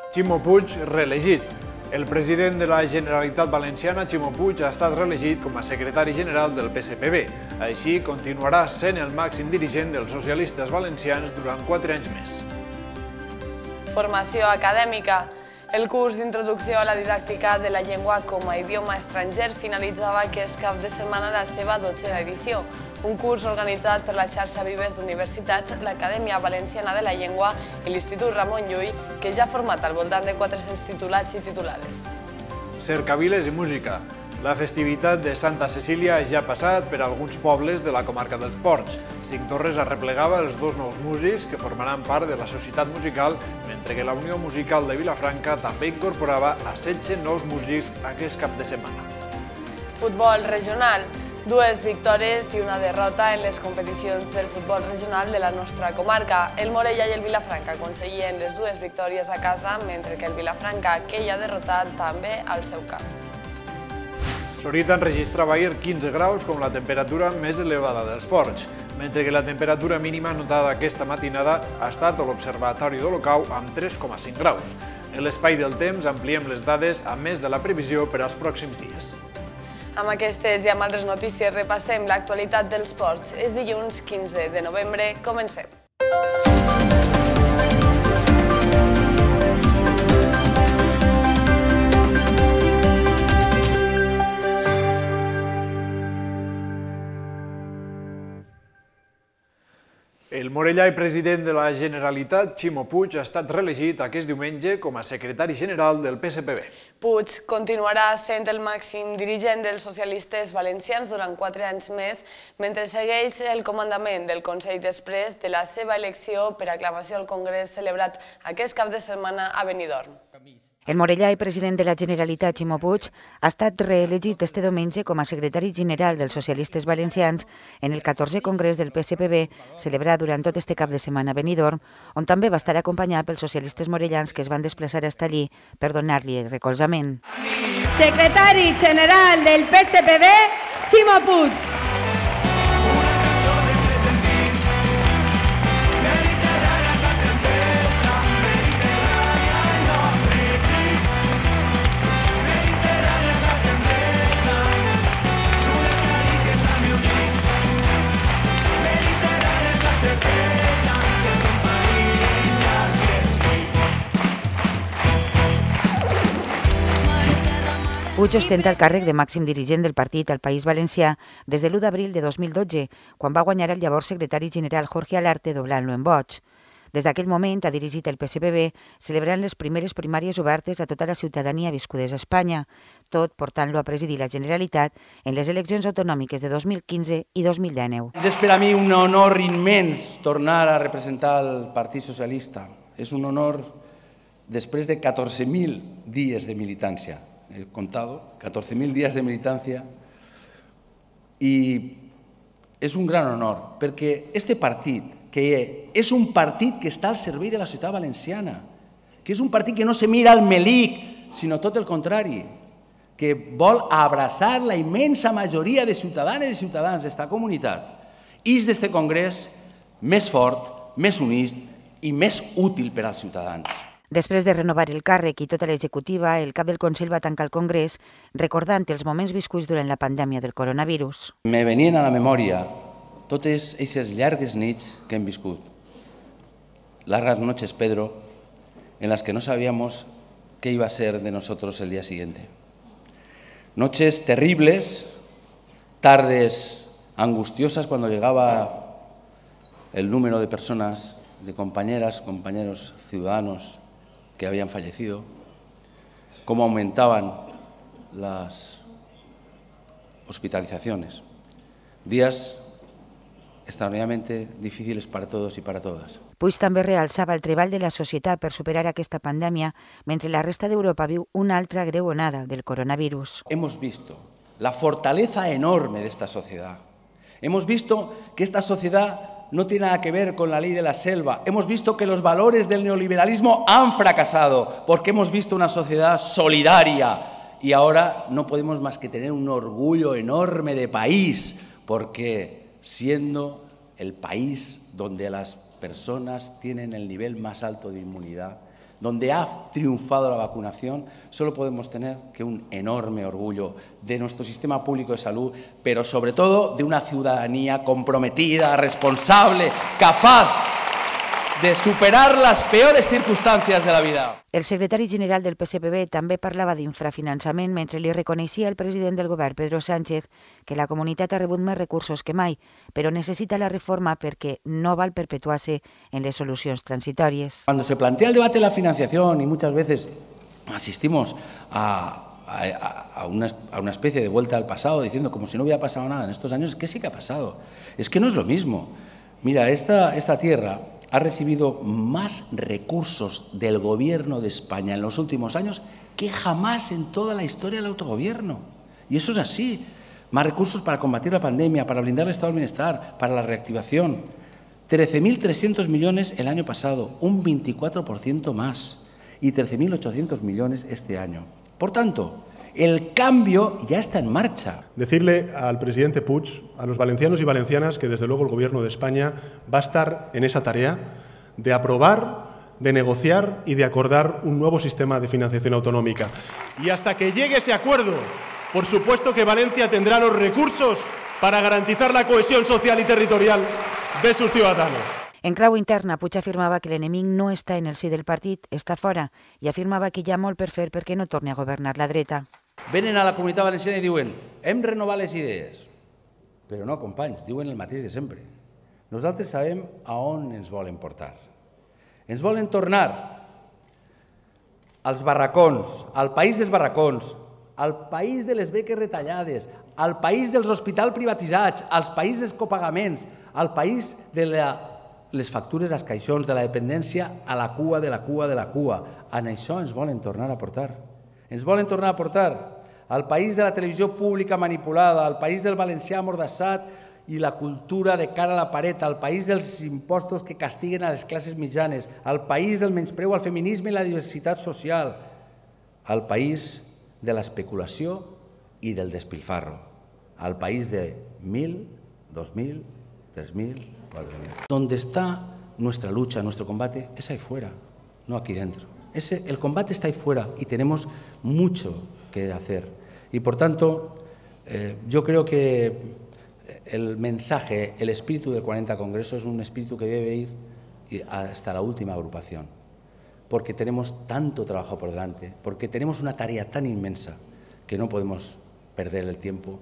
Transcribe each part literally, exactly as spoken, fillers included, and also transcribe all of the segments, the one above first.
Ximo Puig, reelegit. El president de la Generalitat Valenciana, Ximo Puig, ha estat reelegit com a secretari general del P S P B. Així, continuarà sent el màxim dirigent dels socialistes valencians durant quatre anys més. Formació acadèmica. El curs d'introducció a la didàctica de la llengua com a idioma estranger finalitzava aquest cap de setmana la seva dotzena edició. Un curs organitzat per la xarxa Vives d'Universitats, l'Acadèmia Valenciana de la Llengua i l'Institut Ramon Llull, que ja ha format al voltant de quatre-cents titulats i titulades. Cercaviles i música. La festivitat de Santa Cecília ja ha passat per alguns pobles de la comarca dels Ports. Cinctorres arreplegava els dos nous músics que formaran part de la societat musical, mentre que la Unió Musical de Vilafranca també incorporava a setze nous músics aquest cap de setmana. Futbol regional. Dues victòries i una derrota en les competicions del futbol regional de la nostra comarca. El Morella i el Vilafranca aconseguien les dues victòries a casa, mentre que el Vilafranca, que hi ha derrotat també al seu camp. Sorita enregistrava ahir quinze graus com la temperatura més elevada dels ports, mentre que la temperatura mínima notada aquesta matinada ha estat a l'Observatori d'Olocau amb tres coma cinc graus. En l'espai del temps ampliem les dades a més de la previsió per als pròxims dies. Amb aquestes i amb altres notícies repassem l'actualitat dels ports. És dilluns quinze de novembre. Comencem. El Morellà i president de la Generalitat, Ximo Puig, ha estat reelegit aquest diumenge com a secretari general del P S P B. Puig continuarà sent el màxim dirigent dels socialistes valencians durant quatre anys més, mentre segueix el comandament del Consell després de la seva elecció per aclamació al Congrés celebrat aquest cap de setmana a Benidorm. El morellà i president de la Generalitat, Ximo Puig, ha estat reelegit este diumenge com a secretari general dels socialistes valencians en el catorzè Congrés del P S P B, celebrat durant tot este cap de setmana a Benidorm, on també va estar acompanyat pels socialistes morellans que es van desplaçar fins allí per donar-li el recolzament. Secretari general del P S P B, Ximo Puig. Puig ostenta el càrrec de màxim dirigent del partit al País Valencià des de l'u d'abril de dos mil dotze, quan va guanyar el llavors secretari general Jorge Alarte doblant-lo en vots. Des d'aquell moment ha dirigit el P S P B, celebrant les primeres primàries obertes a tota la ciutadania viscudes a Espanya, tot portant-lo a presidir la Generalitat en les eleccions autonòmiques de dos mil quinze i dos mil dinou. És per a mi un honor immens tornar a representar el Partit Socialista. És un honor després de catorze mil dies de militància. He contado, catorze mil días de militancia, y es un gran honor, perquè este partit, que és un partit que està al servei de la ciutat valenciana, que és un partit que no se mira al melic, sinó tot el contrari, que vol abraçar la immensa majoria de ciutadanes i ciutadans d'esta comunitat, és d'este congrés més fort, més unit i més útil per als ciutadans. Després de renovar el càrrec i tota l'executiva, el cap del Consell va tancar el Congrés recordant els moments viscuts durant la pandèmia del coronavirus. Me venien a la memòria totes aquestes llargues nits que hem viscut. Largas noches, Pedro, en las que no sabíamos qué iba a ser de nosotros el día siguiente. Noches terribles, tardes angustiosas cuando llegaba el número de personas, de compañeras, compañeros ciudadanos que habían fallecido, cómo aumentaban las hospitalizaciones. Días extraordinariamente difíciles para todos y para todas. Puig també realçava el treball de la societat per superar aquesta pandèmia, mentre la resta d'Europa viu una altra greu onada del coronavirus. Hemos visto la fortaleza enorme de esta sociedad. Hemos visto que esta sociedad no tiene nada que ver con la ley de la selva. Hemos visto que los valores del neoliberalismo han fracasado porque hemos visto una sociedad solidaria y ahora no podemos más que tener un orgullo enorme de país porque siendo el país donde las personas tienen el nivel más alto de inmunidad, donde ha triunfado la vacunación, solo podemos tener que un enorme orgullo de nuestro sistema público de salud, pero sobre todo de una ciudadanía comprometida, responsable, capaz de superar las peores circunstancias de la vida. El secretari general del P S P B també parlava d'infrafinançament mentre li reconeixia al president del govern, Pedro Sánchez, que la comunitat ha rebut més recursos que mai, però necessita la reforma perquè no val perpetuar-se en les solucions transitòries. Cuando se plantea el debate de la financiación y muchas veces asistimos a, a, a, una, a una especie de vuelta al pasado diciendo como si no hubiera pasado nada en estos años, es que sí que ha pasado. Es que no es lo mismo. Mira, esta, esta tierra ha recibido más recursos del Gobierno de España en los últimos años que jamás en toda la historia del autogobierno. Y eso es así. Más recursos para combatir la pandemia, para blindar el estado del bienestar, para la reactivación. trece mil trescientos millones el año pasado, un veinticuatro por ciento más. Y trece mil ochocientos millones este año. Por tanto, el cambio ya está en marcha. Decirle al presidente Puig, a los valencianos y valencianas, que desde luego el Gobierno de España va a estar en esa tarea de aprobar, de negociar y de acordar un nuevo sistema de financiación autonómica. Y hasta que llegue ese acuerdo, por supuesto que Valencia tendrá los recursos para garantizar la cohesión social y territorial de sus ciudadanos. En clau interna, Puig afirmava que l'enemic no està en el si del partit, està fora, i afirmava que hi ha molt per fer perquè no torni a governar la dreta. Venen a la Comunitat Valenciana i diuen hem renovat les idees. Però no, companys, diuen el mateix de sempre. Nosaltres sabem a on ens volen portar. Ens volen tornar als barracons, al país dels barracons, al país de les beques retallades, al país dels hospitals privatitzats, al país dels copagaments, al país de la, les factures als caixons, de la dependència a la cua de la cua de la cua. En això ens volen tornar a portar. Ens volen tornar a portar al país de la televisió pública manipulada, al país del valencià amordassat i la cultura de cara a la paret, al país dels impostos que castiguen a les classes mitjanes, al país del menyspreu al feminisme i la diversitat social, al país de l'especulació i del despilfarro, al país de mil, dos mil, tres mil, cuatro mil. Donde está nuestra lucha, nuestro combate, es ahí fuera, no aquí dentro. Ese, el combate está ahí fuera y tenemos mucho que hacer. Y por tanto, eh, yo creo que el mensaje, el espíritu del cuarenta Congreso es un espíritu que debe ir hasta la última agrupación, porque tenemos tanto trabajo por delante, porque tenemos una tarea tan inmensa que no podemos perder el tiempo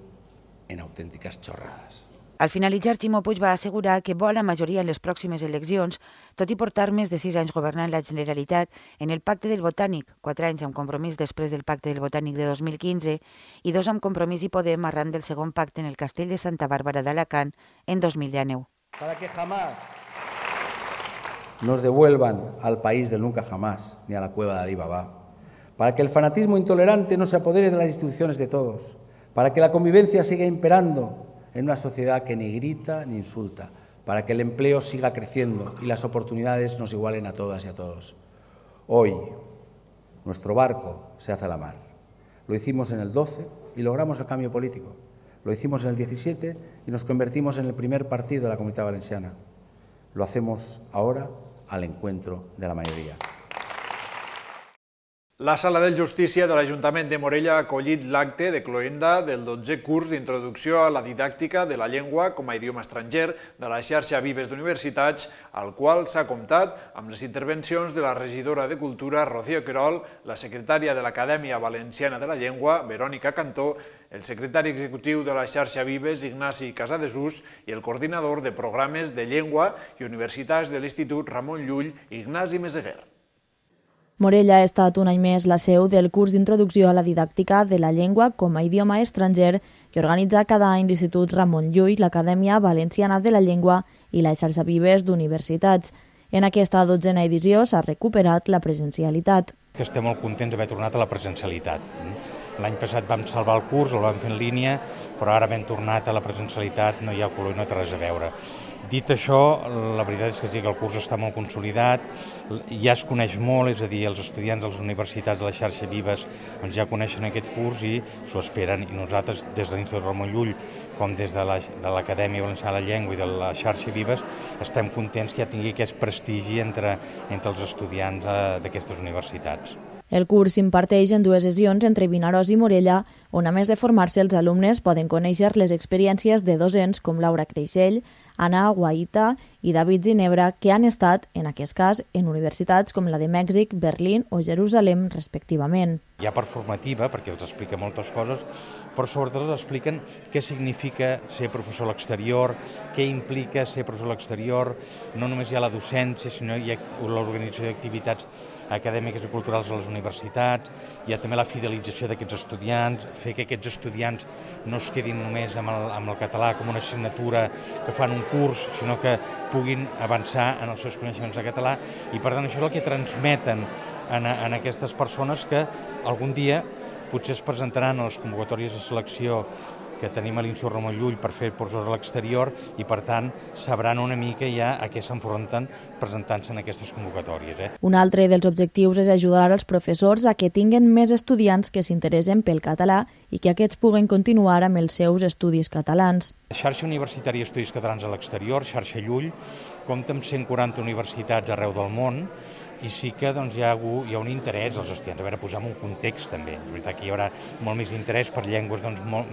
en auténticas chorradas. Al finalitzar, Ximo Puig va assegurar que vol la majoria en les pròximes eleccions, tot i portar més de sis anys governant la Generalitat en el Pacte del Botànic, quatre anys amb Compromís després del Pacte del Botànic de dos mil quinze i dos amb Compromís i Podem arran del segon pacte en el Castell de Santa Bàrbara d'Alacant en dos mil dinou. Para que jamás nos devuelvan al país del nunca jamás ni a la cueva de Alí Baba, para que el fanatismo intolerante no se apodere de las instituciones de todos, para que la convivencia siga imperando en una sociedad que ni grita ni insulta, para que el empleo siga creciendo y las oportunidades nos igualen a todas y a todos. Hoy, nuestro barco se hace a la mar. Lo hicimos en el doce y logramos el cambio político. Lo hicimos en el diecisiete y nos convertimos en el primer partido de la Comunitat Valenciana. Lo hacemos ahora al encuentro de la mayoría. La Sala de Justícia de l'Ajuntament de Morella ha acollit l'acte de cloenda del dotzè curs d'introducció a la didàctica de la llengua com a idioma estranger de la xarxa Vives d'Universitats, al qual s'ha comptat amb les intervencions de la regidora de Cultura, Rocío Querol, la secretària de l'Acadèmia Valenciana de la Llengua, Verònica Cantó, el secretari executiu de la xarxa Vives, Ignasi Casadesús, i el coordinador de programes de llengua i universitats de l'Institut Ramon Llull, Ignasi Meseguer. Morella ha estat un any més la seu del curs d'introducció a la didàctica de la llengua com a idioma estranger que organitza cada any l'Institut Ramon Llull, l'Acadèmia Valenciana de la Llengua i la xarxa Vives d'Universitats. En aquesta dotzena edició s'ha recuperat la presencialitat. Estem molt contents d'haver tornat a la presencialitat. L'any passat vam salvar el curs, el vam fer en línia, però ara hem tornat a la presencialitat, no hi ha color i no té res a veure. Dit això, la veritat és que sí que el curs està molt consolidat, ja es coneix molt, és a dir, els estudiants de les universitats de la xarxa Vives doncs ja coneixen aquest curs i s'ho esperen, i nosaltres des de l'Institut Ramon Llull com des de l'Acadèmia Valenciana de la Llengua i de la xarxa Vives estem contents que ja tingui aquest prestigi entre, entre els estudiants d'aquestes universitats. El curs s'imparteix en dues sessions entre Vinaròs i Morella, on a més de formar-se els alumnes poden conèixer les experiències de docents com Laura Creixell, Anna Guaita i David Ginebra, que han estat, en aquest cas, en universitats com la de Mèxic, Berlín o Jerusalem, respectivament. Hi ha part formativa, perquè els explica moltes coses, però sobretot els expliquen què significa ser professor a l'exterior, què implica ser professor a l'exterior, no només hi ha la docència, sinó hi ha l'organització d'activitats acadèmiques i culturals a les universitats, hi ha també la fidelització d'aquests estudiants, fer que aquests estudiants no es quedin només amb el, amb el català com una assignatura que fan un curs, sinó que puguin avançar en els seus coneixements de català, i per tant això és el que transmeten en, en aquestes persones que algun dia potser es presentaran a les convocatòries de selecció que tenim a l'Institut Ramon Llull per fer professors a l'exterior, i per tant sabran una mica ja a què s'enfronten presentant-se en aquestes convocatòries. Eh? Un altre dels objectius és ajudar als professors a que tinguen més estudiants que s'interessen pel català i que aquests puguen continuar amb els seus estudis catalans. La xarxa universitària d'estudis catalans a l'exterior, xarxa Llull, compta amb cent quaranta universitats arreu del món, i sí que doncs, hi, ha, hi ha un interès dels estudiants. A veure, posar un context també. És veritat que hi haurà molt més interès per llengües doncs, molt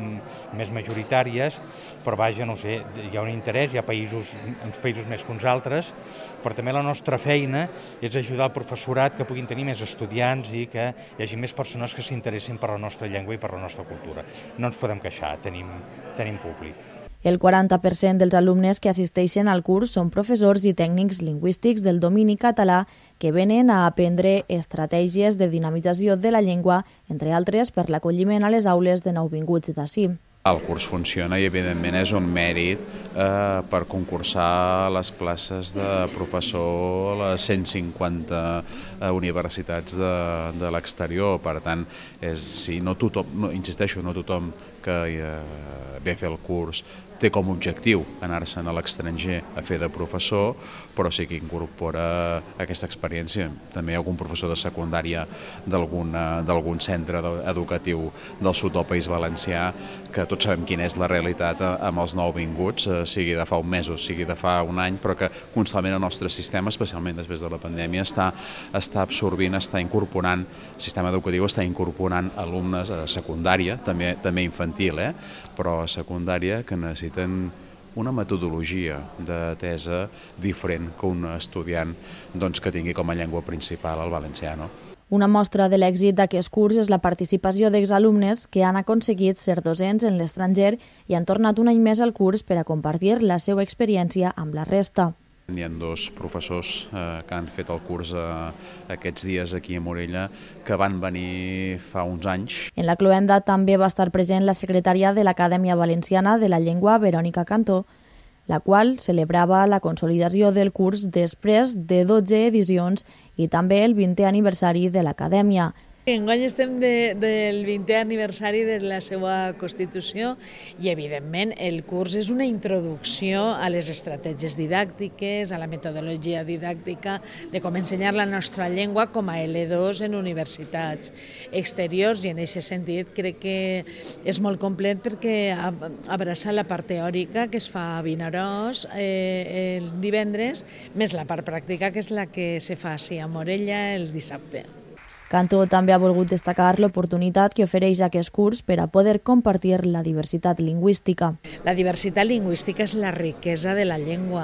més majoritàries, però vaja, no sé, hi ha un interès, hi ha països, uns països més que uns altres, però també la nostra feina és ajudar el professorat que puguin tenir més estudiants i que hi hagi més persones que s'interessin per la nostra llengua i per la nostra cultura. No ens podem queixar, tenim, tenim públic. El quaranta per cent dels alumnes que assisteixen al curs són professors i tècnics lingüístics del domini català que venen a aprendre estratègies de dinamització de la llengua, entre altres per l'acolliment a les aules de nouvinguts d'ací. El curs funciona i, evidentment, és un mèrit eh, per concursar les places de professor a les cent cinquanta eh, universitats de, de l'exterior. Per tant, és, sí, no tothom, no, insisteixo, no tothom que eh, ve a fer el curs té com a objectiu anar-se'n a l'estranger a fer de professor, però sí que incorpora aquesta experiència. També hi ha algun professor de secundària d'algun centre educatiu del sud del País Valencià, que tots sabem quina és la realitat amb els nouvinguts, sigui de fa un mes o sigui de fa un any, però que constantment el nostre sistema, especialment després de la pandèmia, està, està absorbint, està incorporant, el sistema educatiu està incorporant alumnes a secundària, també, també infantil, eh? però a secundària, que necessiten una metodologia de tesa diferent que un estudiant doncs, que tingui com a llengua principal el valencià. No? Una mostra de l'èxit d'aquest curs és la participació d'exalumnes que han aconseguit ser docents en l'estranger i han tornat un any més al curs per a compartir la seva experiència amb la resta. Hi ha dos professors eh, que han fet el curs eh, aquests dies aquí a Morella que van venir fa uns anys. En la cloenda també va estar present la secretària de l'Acadèmia Valenciana de la Llengua, Verònica Cantó, la qual celebrava la consolidació del curs després de dotze edicions i també el vintè aniversari de l'Acadèmia. Enguany estem de, del vintè aniversari de la seva Constitució i, evidentment, el curs és una introducció a les estratègies didàctiques, a la metodologia didàctica, de com ensenyar la nostra llengua com a L dos en universitats exteriors, i en aquest sentit crec que és molt complet perquè abraça la part teòrica que es fa a Vinaròs eh, el divendres, més la part pràctica que és la que se fa a Morella el dissabte. Cantó també ha volgut destacar l'oportunitat que ofereix aquest curs per a poder compartir la diversitat lingüística. La diversitat lingüística és la riquesa de la llengua.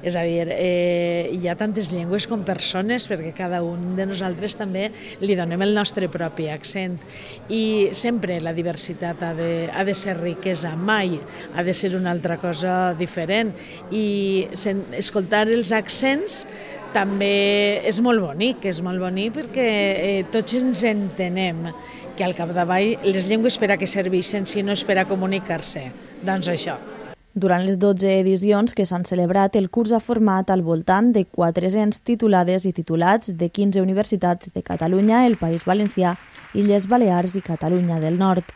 És a dir, eh, hi ha tantes llengües com persones, perquè cada un de nosaltres també li donem el nostre propi accent. I sempre la diversitat ha de, ha de ser riquesa, mai ha de ser una altra cosa diferent. I escoltar els accents també és molt bonic, és molt bonic perquè eh, tots ens entenem que al capdavall les llengües per a què serveixen si no és per a comunicar-se. Doncs això. Durant les dotze edicions que s'han celebrat, el curs ha format al voltant de quatre-cents titulades i titulats de quinze universitats de Catalunya, el País Valencià, Illes Balears i Catalunya del Nord.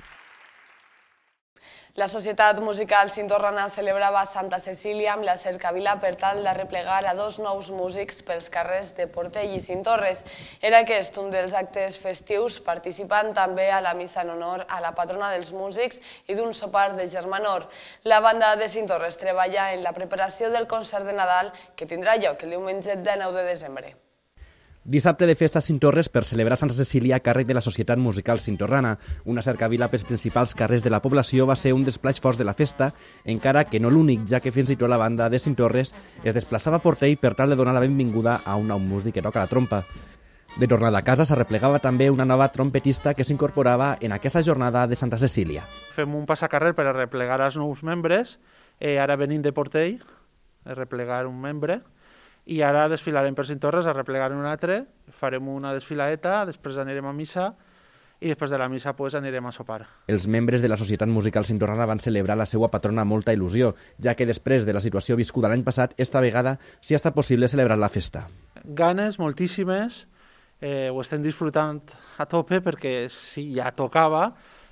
La Societat Musical Cintorrana celebrava Santa Cecília amb la cercavila per tal de replegar a dos nous músics pels carrers de Portell i Cintorres. Era aquest un dels actes festius, participant també a la missa en honor a la patrona dels músics i d'un sopar de germanor. La banda de Cintorres treballa en la preparació del concert de Nadal que tindrà lloc el diumenge dinou de desembre. Dissabte de festa a Cintorres per celebrar Santa Cecília a càrrec de la Societat Musical Cintorrana. Una cercavila pels principals carrers de la població va ser un dels plats forts de la festa, encara que no l'únic, ja que fins i tot la banda de Cintorres es desplaçava a Portell per tal de donar la benvinguda a un nou músic que toca la trompa. De tornada a casa s'arreplegava també una nova trompetista que s'incorporava en aquesta jornada de Santa Cecília. Fem un passacarrer per arreplegar els nous membres, eh, ara venim de Portell, a replegar un membre, i ara desfilarem per Cintorres a replegar un altre, farem una desfiladeta, després anirem a missa i després de la missa pues, anirem a sopar. Els membres de la Societat Musical Cintorrana van celebrar la seva patrona amb molta il·lusió, ja que després de la situació viscuda l'any passat, esta vegada sí ha estat possible celebrar la festa. Ganes, moltíssimes, eh, ho estem disfrutant a tope perquè si ja tocava,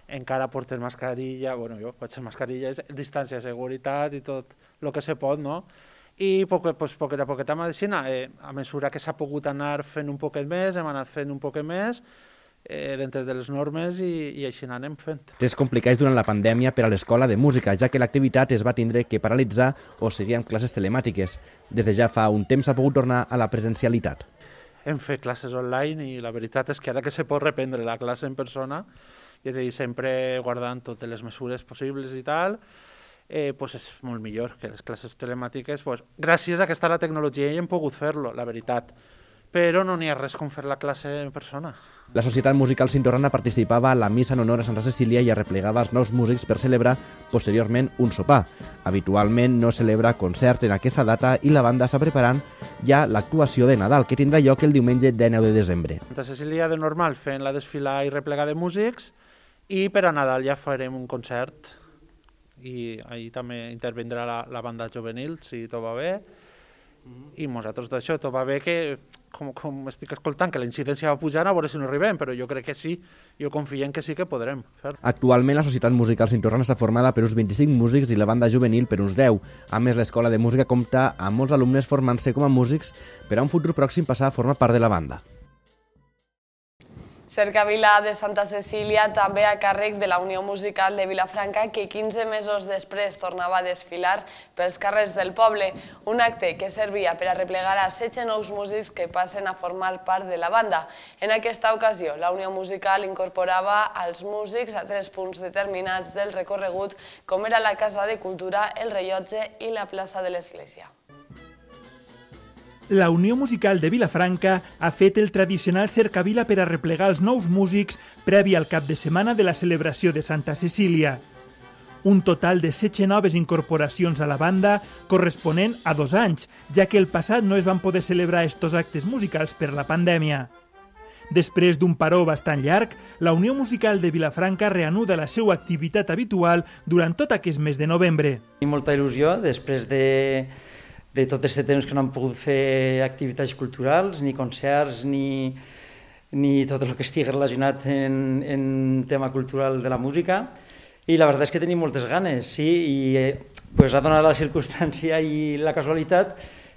encara portem mascarilla, bueno, jo faig mascarilla, distància, seguretat i tot el que se pot, no? I poquet, pues, poquet a poquet a medicina, eh, a mesura que s'ha pogut anar fent un poquet més, hem anat fent un poquet més, eh, dintre de les normes i, i així anem fent. Temps complicats durant la pandèmia per a l'Escola de Música, ja que l'activitat es va tindre que paralitzar o seguir amb classes telemàtiques. Des de ja fa un temps s'ha pogut tornar a la presencialitat. Hem fet classes online i la veritat és que ara que se pot reprendre la classe en persona, i és a dir, sempre guardant totes les mesures possibles i tal, Eh, pues és molt millor que les classes telemàtiques. Pues, gràcies a que està la tecnologia i hem pogut fer-lo, la veritat. Però no n'hi ha res com fer la classe en persona. La Societat Musical Cintorrana participava a la missa en honor a Santa Cecília i arreplegava els nous músics per celebrar posteriorment un sopar. Habitualment no celebra concert en aquesta data i la banda està preparant ja l'actuació de Nadal, que tindrà lloc el diumenge dinou de desembre. Santa Cecília de normal fent la desfila i replegar de músics i per a Nadal ja farem un concert i ahir també intervindrà la, la banda juvenil, si tot va bé, i nosaltres d'això, tot va bé que, com, com estic escoltant, que la incidència va pujar, a veure si no arribem, però jo crec que sí, jo confio en que sí que podrem fer. Actualment la Societat Musical Cintorrana està formada per uns vint-i-cinc músics i la banda juvenil per uns deu. A més, l'Escola de Música compta amb molts alumnes formant-se com a músics per a un futur pròxim passar a formar part de la banda. Cercavila de Santa Cecília també a càrrec de la Unió Musical de Vilafranca, que quinze mesos després tornava a desfilar pels carrers del poble, un acte que servia per a replegar a setze nous músics que passen a formar part de la banda. En aquesta ocasió, la Unió Musical incorporava als músics a tres punts determinats del recorregut, com era la Casa de Cultura, el Rellotge i la plaça de l'Església. La Unió Musical de Vilafranca ha fet el tradicional cercavila per a replegar els nous músics previ al cap de setmana de la celebració de Santa Cecília. Un total de setze noves incorporacions a la banda corresponent a dos anys, ja que el passat no es van poder celebrar estos actes musicals per la pandèmia. Després d'un paró bastant llarg, la Unió Musical de Vilafranca reanuda la seva activitat habitual durant tot aquest mes de novembre. Tinc molta il·lusió després de... de tot aquest temps que no hem pogut fer activitats culturals, ni concerts, ni, ni tot el que estigui relacionat en, en tema cultural de la música. I la veritat és que tenim moltes ganes, sí, i eh, pues, ha donat la circumstància i la casualitat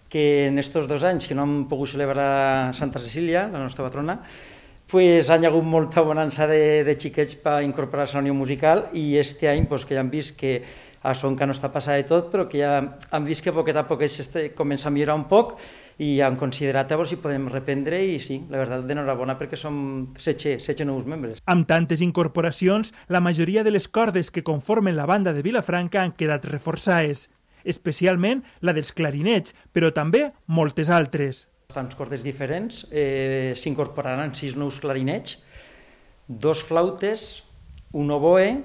que en estos dos anys que no hem pogut celebrar Santa Cecília, la nostra patrona, pues, han hagut molta bonança de, de xiquets per incorporar-se a la Unió Musical i este any pues, que ja hem vist que això encara no està passat de tot, però que ja hem vist que a poquet a poquet comença a millorar un poc i hem considerat a veure si podem reprendre i sí, la veritat, d'enhorabona perquè som setze nous membres. Amb tantes incorporacions, la majoria de les cordes que conformen la banda de Vilafranca han quedat reforçades, especialment la dels clarinets, però també moltes altres. Tants cordes diferents, eh, s'incorporaran sis nous clarinets, dos flautes, un oboe,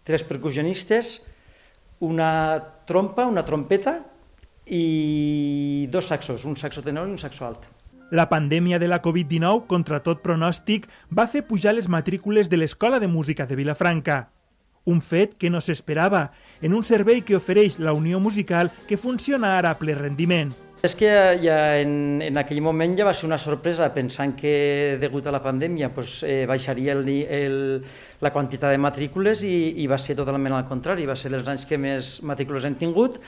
tres percussionistes, una trompa, una trompeta i dos saxos, un saxo tenor i un saxo alt. La pandèmia de la Covid dinou, contra tot pronòstic, va fer pujar les matrícules de l'Escola de Música de Vilafranca. Un fet que no s'esperava en un servei que ofereix la Unió Musical que funciona ara a ple rendiment. És que ja en, en aquell moment ja va ser una sorpresa, pensant que degut a la pandèmia pues, eh, baixaria el, el, la quantitat de matrícules i, i va ser totalment al contrari, va ser dels anys que més matrícules hem tingut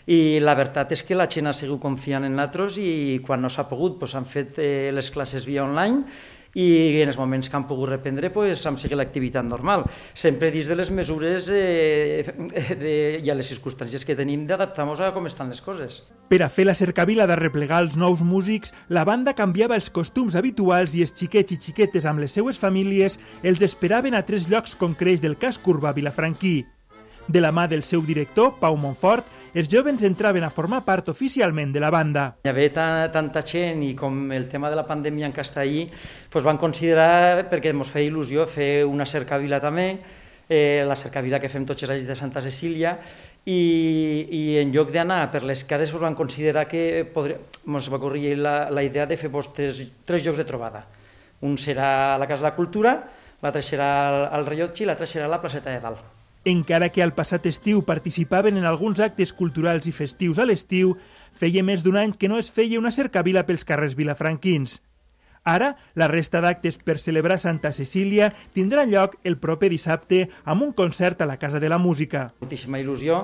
i la veritat és que la gent ha sigut confiant en nosaltres i quan no s'ha pogut pues, han fet eh, les classes via online i en els moments que han pogut reprendre pues, hem seguit l'activitat normal, sempre dins de les mesures eh, de, i a les circumstàncies que tenim d'adaptar-nos a com estan les coses. Per a fer la cercavila de replegar els nous músics, la banda canviava els costums habituals i els xiquets i xiquetes amb les seues famílies els esperaven a tres llocs concrets del casc urbà vilafranquí. De la mà del seu director, Pau Montfort, els joves entraven a formar part oficialment de la banda. Hi havia tanta gent i com el tema de la pandèmia encara està ahí, doncs van considerar, perquè ens feia il·lusió, fer una cercavila també, eh, la cercavila que fem tots els anys de Santa Cecília, i, i en lloc d'anar per les cases doncs van considerar que podria, ens va ocorrir la, la idea de fer doncs, tres, tres llocs de trobada. Un serà a la Casa de la Cultura, l'altre serà al, al Rellotge i l'altre serà a la placeta de Dalt. Encara que al passat estiu participaven en alguns actes culturals i festius a l'estiu, feia més d'un any que no es feia una cercavila pels carrers vilafranquins. Ara, la resta d'actes per celebrar Santa Cecília tindrà lloc el proper dissabte amb un concert a la Casa de la Música. Moltíssima il·lusió,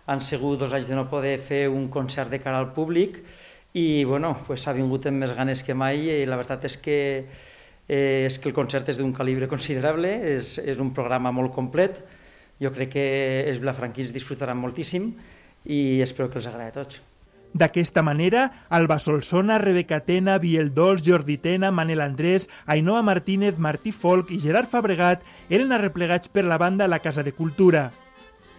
han sigut dos anys de no poder fer un concert de cara al públic i bueno, pues, ha vingut amb més ganes que mai i la veritat és que, eh, és que el concert és d'un calibre considerable, és, és un programa molt complet. Jo crec que els vilafranquins disfrutaran moltíssim i espero que els agradi a tots. D'aquesta manera, Alba Solsona, Rebeca Tena, Biel Dols, Jordi Tena, Manel Andrés, Ainhoa Martínez, Martí Folk i Gerard Fabregat eren arreplegats per la banda a la Casa de Cultura.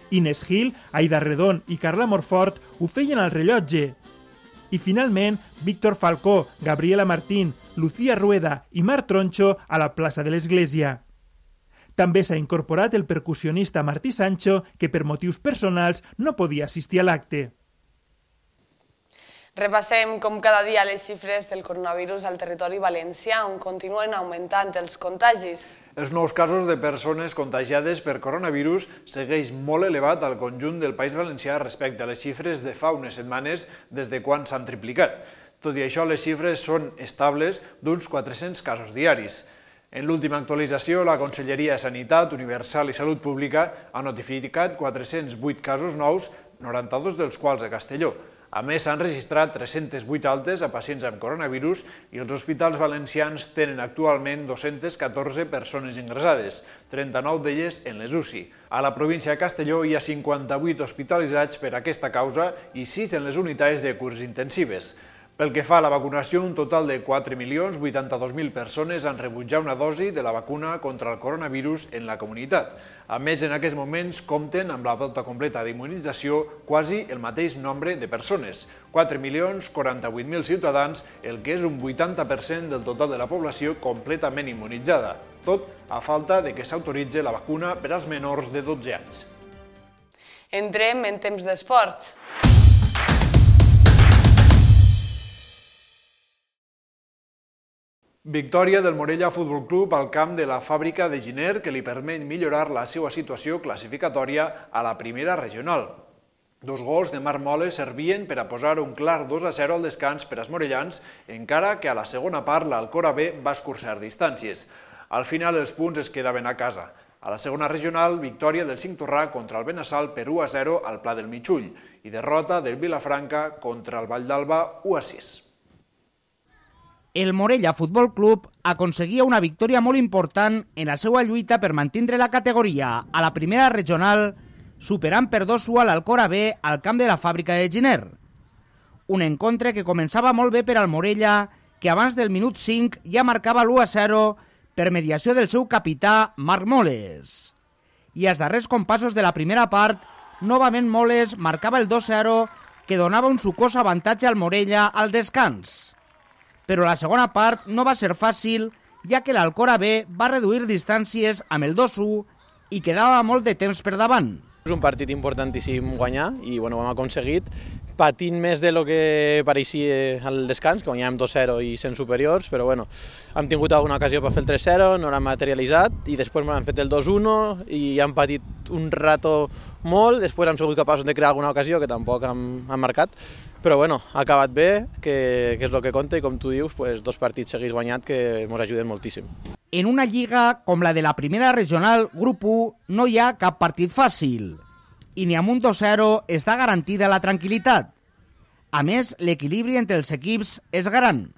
Inés Gil, Aida Redon i Carla Morfort ho feien al Rellotge. I finalment, Víctor Falcó, Gabriela Martín, Lucía Rueda i Marc Troncho a la plaça de l'Església. També s'ha incorporat el percussionista Martí Sancho, que per motius personals no podia assistir a l'acte. Repassem com cada dia les xifres del coronavirus al territori valencià, on continuen augmentant els contagis. Els nous casos de persones contagiades per coronavirus segueix molt elevat al conjunt del País Valencià respecte a les xifres de fa unes setmanes des de quan s'han triplicat. Tot i això, les xifres són estables d'uns quatre-cents casos diaris. En l'última actualització, la Conselleria de Sanitat Universal i Salut Pública ha notificat quatre-cents vuit casos nous, noranta-dos dels quals a Castelló. A més, s'han registrat tres-centes vuit altes a pacients amb coronavirus i els hospitals valencians tenen actualment dos-centes catorze persones ingressades, trenta-nou d'elles en les U C I. A la província de Castelló hi ha cinquanta-vuit hospitalitzats per aquesta causa i sis en les unitats de cures intensives. Pel que fa a la vacunació, un total de quatre milions vuitanta-dos mil persones han rebut ja una dosi de la vacuna contra el coronavirus en la comunitat. A més, en aquests moments compten amb la volta completa d'immunització quasi el mateix nombre de persones, quatre milions quaranta-vuit mil ciutadans, el que és un vuitanta per cent del total de la població completament immunitzada, tot a falta de que s'autoritzi la vacuna per als menors de dotze anys. Entrem en temps d'esports. Victòria del Morella Futbol Club al camp de la Fàbrica de Giner, que li permet millorar la seva situació classificatòria a la primera regional. Dos gols de Marc Moles servien per a posar un clar dos a zero al descans per als morellans, encara que a la segona part l'Alcora B va escurçar distàncies. Al final els punts es quedaven a casa. A la segona regional, victòria del Cinctorrà contra el Benassal per u a zero al Pla del Mitjull i derrota del Vilafranca contra el Vall d'Alba u a sis. El Morella Futbol Club aconseguia una victòria molt important en la seva lluita per mantindre la categoria a la primera regional, superant per dos a l'Alcora B al camp de la Fàbrica de Giner. Un encontre que començava molt bé per al Morella, que abans del minut cinc ja marcava l'u a zero per mediació del seu capità Marc Moles. I als darrers compassos de la primera part, novament Moles marcava el dos a zero, que donava un sucós avantatge al Morella al descans. Però la segona part no va ser fàcil, ja que l'Alcora B va reduir distàncies amb el dos a u i quedava molt de temps per davant. És un partit importantíssim guanyar i bueno, ho hem aconseguit, patint més de lo que pareixia al descans, que guanyàvem dos a zero i sent superiors, però bueno, hem tingut alguna ocasió per fer el tres a zero, no l'hem materialitzat i després hem fet el dos a u i hem patit un rato molt, després hem sigut capaços de crear alguna ocasió que tampoc hem, hem marcat, Però bueno, ha acabat bé, que, que és el que compta, i com tu dius, pues, dos partits seguits guanyat que ens ajuden moltíssim. En una lliga com la de la primera regional Grup u no hi ha cap partit fàcil i ni amb un dos zero està garantida la tranquil·litat. A més, l'equilibri entre els equips és gran.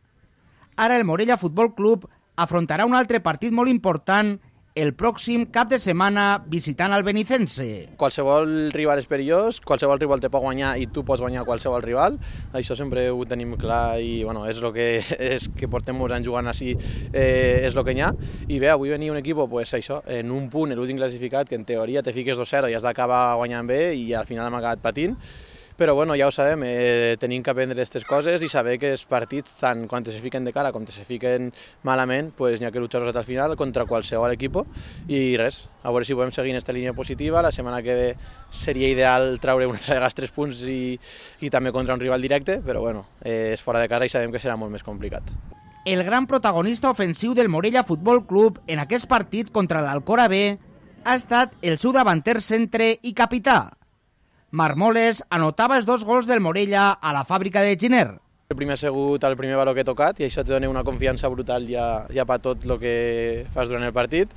Ara el Morella Futbol Club afrontarà un altre partit molt important el pròxim cap de setmana visitant el Benicense. Qualsevol rival és perillós, qualsevol rival te pot guanyar i tu pots guanyar qualsevol rival. Això sempre ho tenim clar i bueno, és el que, és que portem molts anys jugant així, eh, és el que hi ha. I bé, avui venia un equip pues, això, en un punt, l'últim classificat, que en teoria te fiques dos zero i has d'acabar guanyant bé i al final hem acabat patint. Però bueno, ja ho sabem, eh, tenim que aprendre aquestes coses i saber que els partits, tant quan se fiquen de cara com se fiquen malament, pues, n'hi ha que luchar-los al final contra qualsevol equip i res, a veure si podem seguir en aquesta línia positiva. La setmana que ve seria ideal treure una altra vegada tres punts i, i també contra un rival directe, però bueno, eh, és fora de casa i sabem que serà molt més complicat. El gran protagonista ofensiu del Morella Futbol Club en aquest partit contra l'Alcora B ha estat el seu davanter centre i capità. Marmoles anotava els dos gols del Morella a la fàbrica de Giner. El primer ha sigut el primer valor que he tocat i això te dona una confiança brutal ja, ja per tot el que fas durant el partit.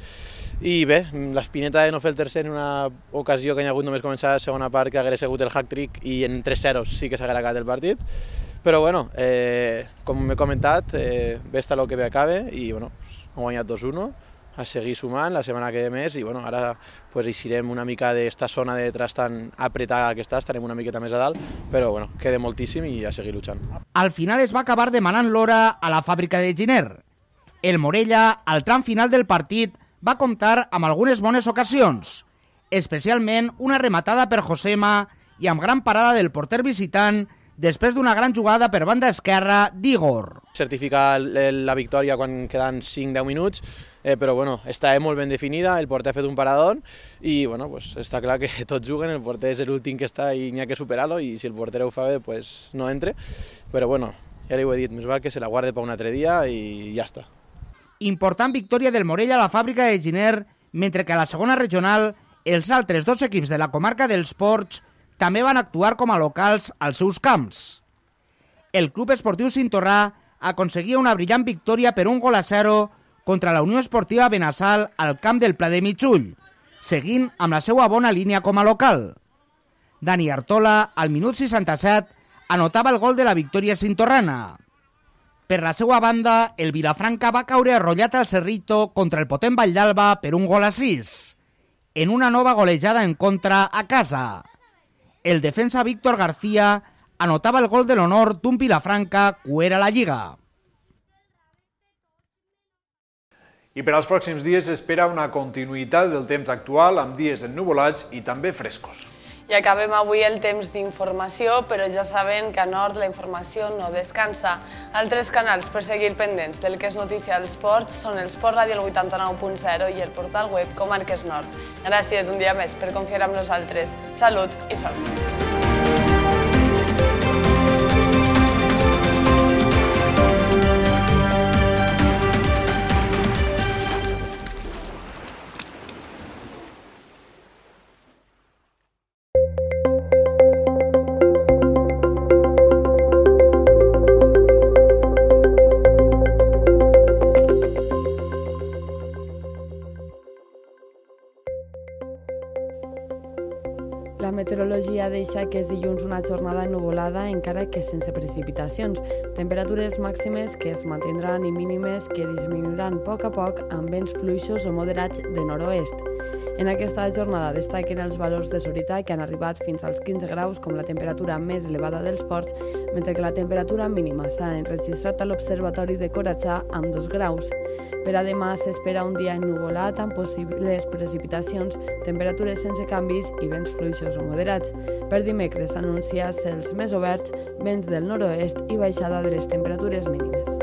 I bé, l'espineta de no fer el tercer en una ocasió que hi ha hagut només començar la segona part, que hagués sigut el hack-trick i en tres zeros sí que s'hagués acabat el partit. Però bueno, eh, com m'he comentat, eh, bé està el que bé acabe i bueno, hem guanyat dos uno. A seguir sumant la setmana que ve més i bueno, ara pues, eixirem una mica d'esta zona de detrás tan apretada que està, estarem una miqueta més a dalt, però bueno, queda moltíssim i a seguir luchant. Al final es va acabar demanant l'hora a la fàbrica de Giner. El Morella, al tram final del partit, va comptar amb algunes bones ocasions, especialment una rematada per Josema i amb gran parada del porter visitant després d'una gran jugada per banda esquerra d'Igor. Certificar la victòria quan queden cinc a deu minuts, eh, però bueno, està molt ben definida, el porter ha fet un paradón i bueno, pues, està clar que tots juguen, el porter és l'últim que està i n'hi ha que superar-lo i si el porter ho fa bé, pues, no entre, però bueno, ja li ho he dit, més val que se la guarde per un altre dia i ja està. Important victòria del Morella a la fàbrica de Giner, mentre que a la segona regional els altres dos equips de la comarca dels Ports també van actuar com a locals als seus camps. El Club Esportiu Cintorrà aconseguia una brillant victòria per un gol a zero contra la Unió Esportiva Benassal al camp del Pla de Mitjull, seguint amb la seva bona línia com a local. Dani Artola, al minut seixanta-set, anotava el gol de la victòria cintorrana. Per la seva banda, el Vilafranca va caure arrollat al Cerrito contra el potent Valldalba per un gol a sis, en una nova golejada en contra a casa. El defensa Víctor García anotava el gol de l'honor d'un Vilafranca cuer a la Lliga. I per als pròxims dies s'espera una continuïtat del temps actual amb dies ennuvolats i també frescos. I acabem avui el temps d'informació, però ja saben que a Nord la informació no descansa. Altres canals per seguir pendents del que és notícia als ports són el Sport Ràdio vuitanta-nou punt zero i el portal web Comarques Nord. Gràcies un dia més per confiar en nosaltres. Salut i sort! La meteorologia deixa que és dilluns una jornada ennuvolada encara que sense precipitacions. Temperatures màximes que es mantindran i mínimes que disminuiran a poc a poc amb vents fluixos o moderats de nord-oest. En aquesta jornada destaquen els valors de Sorita que han arribat fins als quinze graus com la temperatura més elevada dels ports, mentre que la temperatura mínima s'ha enregistrat a l'Observatori de Coratxà amb dos graus. Per a demà s'espera un dia ennuvolat amb possibles precipitacions, temperatures sense canvis i vents fluixos o moderats. Per dimecres s'anuncia cels més oberts, vents del nord-oest i baixada de les temperatures mínimes.